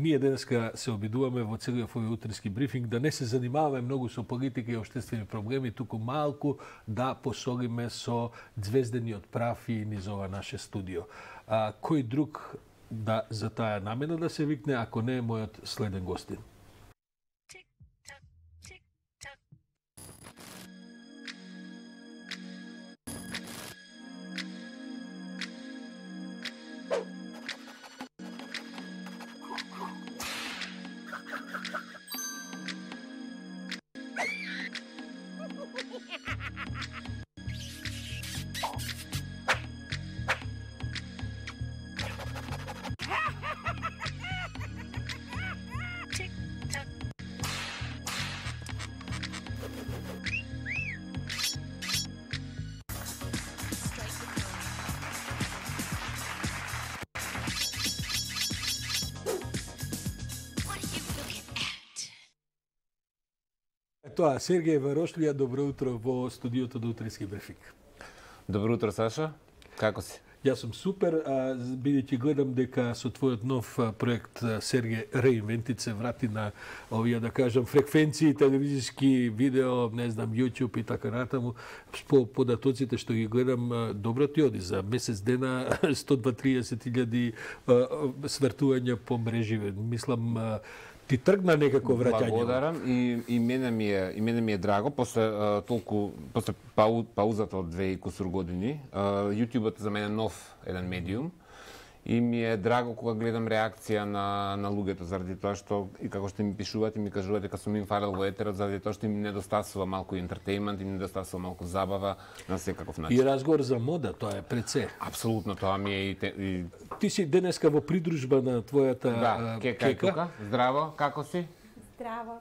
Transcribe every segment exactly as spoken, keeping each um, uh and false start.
ние денеска се обидуваме во целиот овој утрински брифинг да не се занимаваме многу со политика и општествени проблеми, туку малку да посолиме со звездениот прав и низ ова наше студио. А, кој друг да за таа намена да се викне, ако не е мојот следен гостин? Тоа, Сергеј Варошлија, добро утро во студиото до утрински брифинг. Добро утро, Саша. Како си? Јас сум супер, а, бидејќи гледам дека со твојот нов проект Сергеј Реинвентит се врати на овие, да кажам, фреквенции, телевизиски, видео, не знам, YouTube и така натаму. По податоците што ги гледам, добро ти оди за месец дена сто дваесет илјади свртувања по мрежи. Мислам, ти тргна некако враќање. Благодарам и и мене ми е и мене ми е драго после а, толку после пау, паузата од две и кусур години. А, YouTube-от за мене нов еден медиум и ми е драго кога гледам реакција на на луѓето заради тоа што и како што ми пишуваат и ми кажуваат дека сум им фалел во етерот заради тоа што им недостасува малку ентертејмент, им недостасува малку забава на секаков начин. И разговор за мода, тоа е пред се. Апсолутно, тоа ми е и, те, и... Ти си денеска во придружба на твојата да, Кека. Кека. Тука. Здраво, како си? Здраво.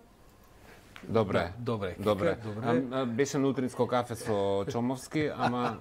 Добре. Да, добре. Добре. добре. А, беше на утринско кафе со Чомовски, ама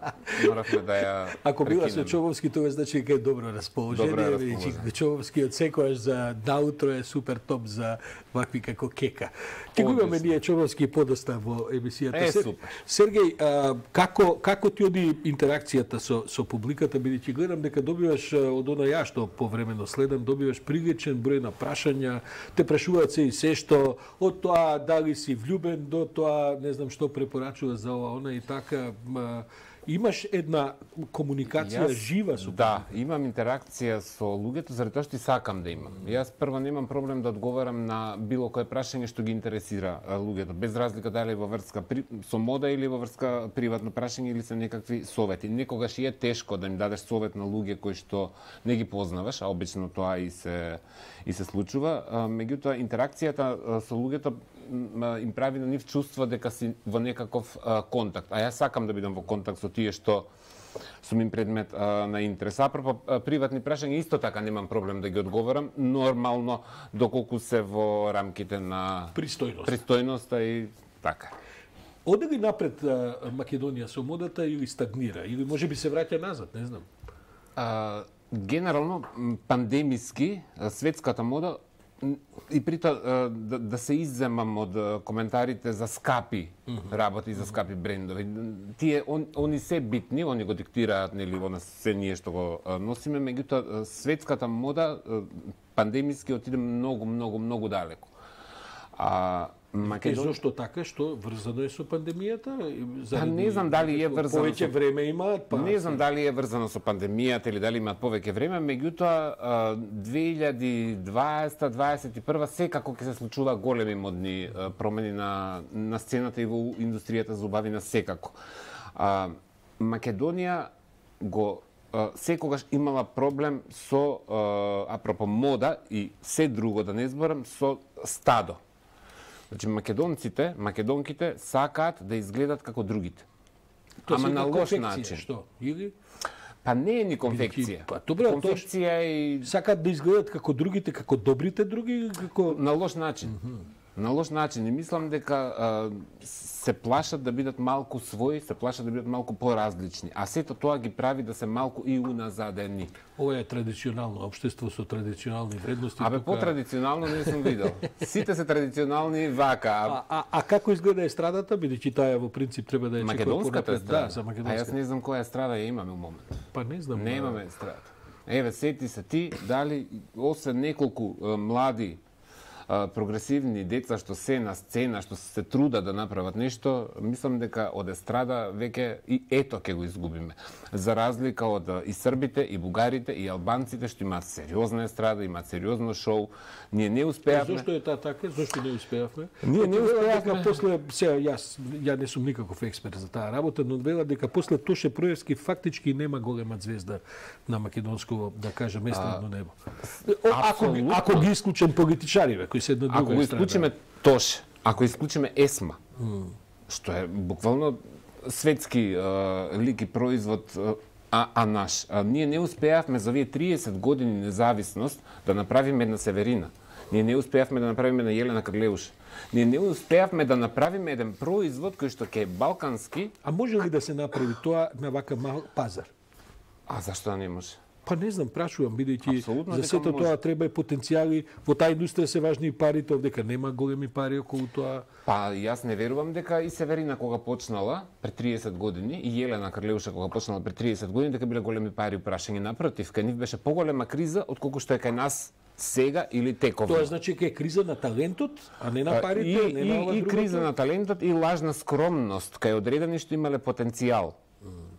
моравме да ја Ако била со Чомовски, тоа значи дека е добро расположение. Добро расположение. Чомовски од секојаш за наутро е супер топ за вакви како Кека. Ке го имаме ние Чомовски подоста во емисијата. Е, супер. Сергеј, а, како како ти оди интеракцијата со со публиката, бидејќи гледам дека добиваш од она ја што повремено следам, добиваш приличен број на прашања, те прашуваат се и се што од тоа дали си влюбен до тоа, не знам што препорачува за ова, она и така. Имаш една комуникација Јас, жива со Да, имам интеракција со луѓето заради тоа што и сакам да имам. Јас прво немам проблем да одговарам на било кое прашање што ги интересира луѓето, без разлика дали во врска при... со мода или во врска приватно прашање или се некакви совети. Некогаш и е тешко да им дадеш совет на луѓе кои што не ги познаваш, а обично тоа и се и се случува. Меѓутоа интеракцијата со луѓето им прави на нив чувство дека си во некаков а, контакт. А јас сакам да бидам во контакт со тие што сум им предмет а, на интерес. Апропо приватни прашања исто така немам проблем да ги одговарам, нормално доколку се во рамките на пристојност. Пристојноста и така. Оде ли напред а, Македонија со модата или стагнира или можеби се враќа назад, не знам. А, генерално пандемиски светската мода и притоа да, да се изземам од коментарите за скапи mm-hmm. работи, за скапи брендови. Тие он, они се битни, они го диктираат, нели, она се ние што го носиме, меѓутоа светската мода пандемиски отиде многу, многу, многу далеко. А Македон... И зошто така, што врзано е со пандемијата? Па не знам дали е врзано повеќе со... време имаат, па Не знам дали е врзано со пандемијата или дали имаат повеќе време, меѓутоа две илјади дваесета дваесет и прва секако ќе се случува големи модни промени на на сцената и во индустријата за убавина секако. А, Македонија го секогаш имала проблем со апропо мода и се друго да не зборам со стадо. Значи македонците, македонките сакаат да изгледат како другите. Тоа Ама на лош конфекција, начин. Што? Или Па не е ни конфекција. Па добре, конфекција и сакаат да изгледат како другите, како добрите други, како на лош начин. Mm-hmm. На лош начин. И мислам дека а, се плашат да бидат малку своји, се плашат да бидат малку поразлични. А сето тоа ги прави да се малку и уназадени. Ова е традиционално општество со традиционални вредности. Абе, тука... по-традиционално не сум видел. Сите се традиционални вака. А, а, а како изгледа естрадата, бидејќи таа во принцип треба да е македонската да, за А македонската. јас не знам која естрада ја имаме у момент. Па не знам. Не имаме естрадата. Еве, сети се ти, дали, освен неколку а, млади а, прогресивни деца што се на сцена, што се трудат да направат нешто, мислам дека од естрада веќе и ето ќе го изгубиме. За разлика од а, и србите, и бугарите, и албанците што имаат сериозна естрада, имаат сериозно шоу, ние не успеавме. Зошто е таа така? Зошто не успеавме? Ние не успеавме. Дека после, сега јас ја не сум никаков експерт за таа работа, но вела дека после Тоше Проевски фактички нема голема звезда на македонско, да кажем, естрадно небо. Ако ги, ако ги исклучам политичариве кои се на друга Ако го исклучиме Тоше, ако исклучиме Есма, mm. што е буквално светски а, лик и производ, а, а наш, а, ние не успеавме за овие триесет години независност да направиме една Северина. Ние не успеавме да направиме на Јелена Карлеуш. Ние не успеавме да направиме еден производ кој што ќе е балкански. А може ли да се направи тоа на вака мал пазар? А зашто да не може? Па не знам, прашувам, бидејќи Апсолутно за сето дека тоа треба и потенцијали. Во таа индустрија се важни и парите, овдека нема големи пари околу тоа. Па јас не верувам дека и Северина кога почнала пред триесет години и Јелена Карлеуша кога почнала пред триесет години дека биле големи пари прашање. Напротив, кај нив беше поголема криза отколку што е кај нас сега или тековно. Тоа значи дека е криза на талентот, а не на парите, и, не на ова и, и другото. криза на талентот и лажна скромност кај одредени што имале потенцијал.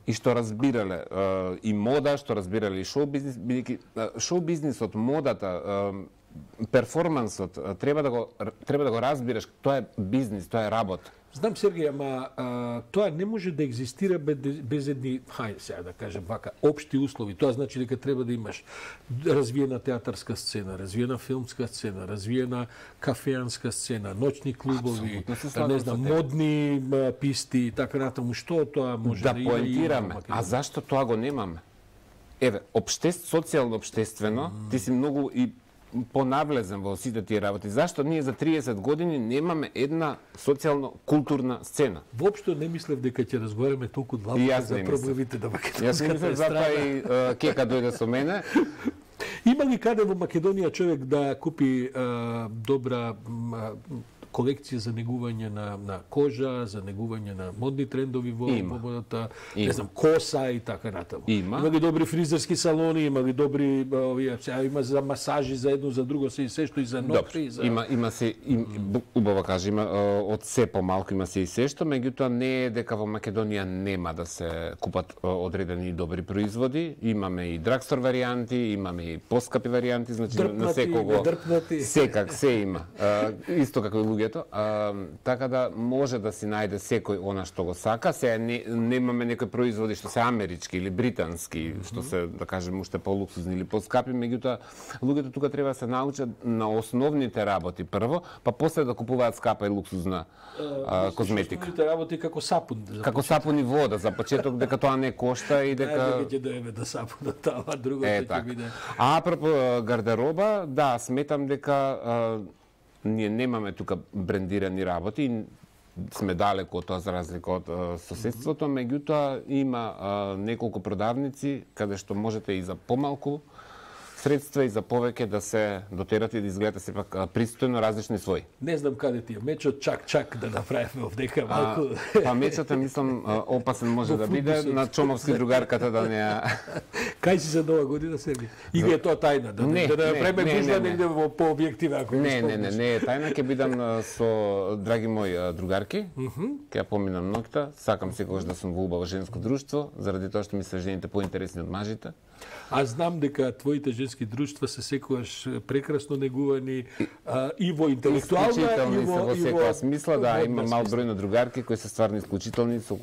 И што разбирале е, и мода, што разбирале и шоу бизнис, бидејќи шоу бизнисот, модата, е, перформансот треба да го треба да го разбираш, тоа е бизнис, тоа е работа. Знам, Сергеј, ама а, тоа не може да екзистира без, без едни, хајде сега да кажем вака, општи услови. Тоа значи дека треба да имаш развиена театарска сцена, развиена филмска сцена, развиена кафеанска сцена, ноќни клубови, не знам, модни а, писти и така натаму. Што тоа може да, да има и поентираме. А зашто тоа го немаме? Еве, обштест, социјално обштествено, mm. ти си многу и понавлезен во сите тие работи. Зашто ние за триесет години немаме една социјално-културна сцена? Воопшто не мислев дека ќе разговараме толку длабоко за проблемите на македонската Јас не мислев затоа и uh, Кека дојде со мене. Има ли каде во Македонија човек да купи uh, добра uh, колекција за негување на, на кожа, за негување на модни трендови во модата, не знам, коса и така натаму. Има. Има ли добри фризерски салони, има ли добри овие, сега има за масажи за едно за друго се и се што и за ногти, за Има има се им, убаво кажа, има од се помалку има се и се што, меѓутоа не е дека во Македонија нема да се купат одредени добри производи. Имаме и драгстор варијанти, имаме и поскапи варијанти, значи дрпнати, на секого дрпнати. секак се има. А, исто како и луѓето. А, така да може да си најде секој она што го сака. Сега не, немаме некои производи што се амерички или британски, mm -hmm. што се, да кажем, уште полуксузни или поскапи, меѓутоа луѓето тука треба да се научат на основните работи прво, па после да купуваат скапа и луксузна а, козметика. Основните работи како сапун. Како сапун и вода за почеток, дека тоа не кошта и дека Ајде ќе доеме да сапунот, таа другото е, ќе так. биде. А апропо гардероба, да, сметам дека а, ние немаме тука брендирани работи и сме далеко од тоа за разлика од а, соседството, меѓутоа има а, неколку продавници каде што можете и за помалку средства и за повеќе да се дотерат и да изгледате сепак пристојно различни своји. Не знам каде ти е мечот, чак-чак да направиме овдека малку. А, па мечот е, мислам, опасен може да биде на Чомовски другарката да не ја... Кај си за нова година, Сергеј? Или е тоа тајна? Да не, да направиме не, гужва не, не. негде во по објектива, ако Не, не, не, не е тајна, ќе бидам со драги мои другарки. Ќе ја поминам ноќта, сакам секогаш да сум во убаво женско друштво, заради тоа што ми се жените поинтересни од мажите. Аз знам дека твоите женски друштва се секогаш прекрасно негувани а, и во интелектуална и во, во и секоја смисла, да, има мал смисла. број на другарки кои се стварно исклучителни, со,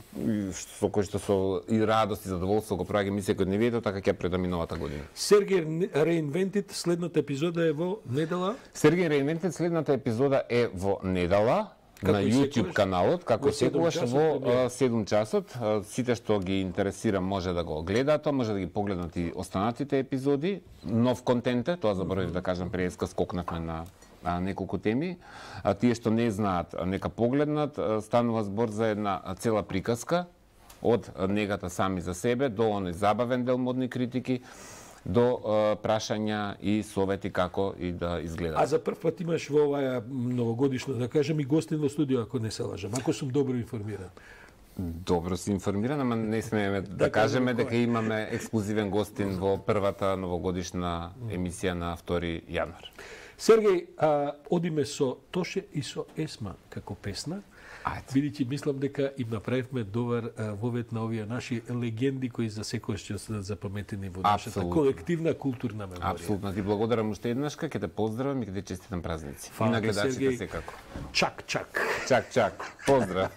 со кои што со и радост и задоволство го праќа ми секој дневието, така ќе предам и новата година. Сергеј Reinvented, следната епизода е во недела. Сергеј Reinvented, следната епизода е во недела. Како на и YouTube секогаш, каналот, како во секогаш седум во часот, а, седум часот. А, Сите што ги интересира може да го гледаат, може да ги погледнат и останатите епизоди. Нов контент е, тоа заборавив да кажам, преска скокнавме на а, неколку теми. А, тие што не знаат, а, нека погледнат. А, станува збор за една цела приказка од негата сами за себе до оној забавен дел модни критики, до а, прашања и совети како и да изгледа. А за прв пат имаш во оваа новогодишна, да кажем, и гостин во студио, ако не се лажам, ако сум добро информиран. Добро си информиран, ама не смееме да, да кажеме дека имаме ексклузивен гостин во првата новогодишна емисија на втори јануар. Сергеј, а, одиме со Тоше и со Есма како песна. Бидејќи мислам дека им направивме добар а, вовет на овие наши легенди кои за секојаш ќе останат запаметени во нашата Абсолютно. колективна културна меморија. Апсолутно, ти благодарам уште еднашка, ќе те поздравам и ќе те честитам празници. Фала, и на гледачите Сергеј. секако. Чак, чак. Чак, чак. Поздрав.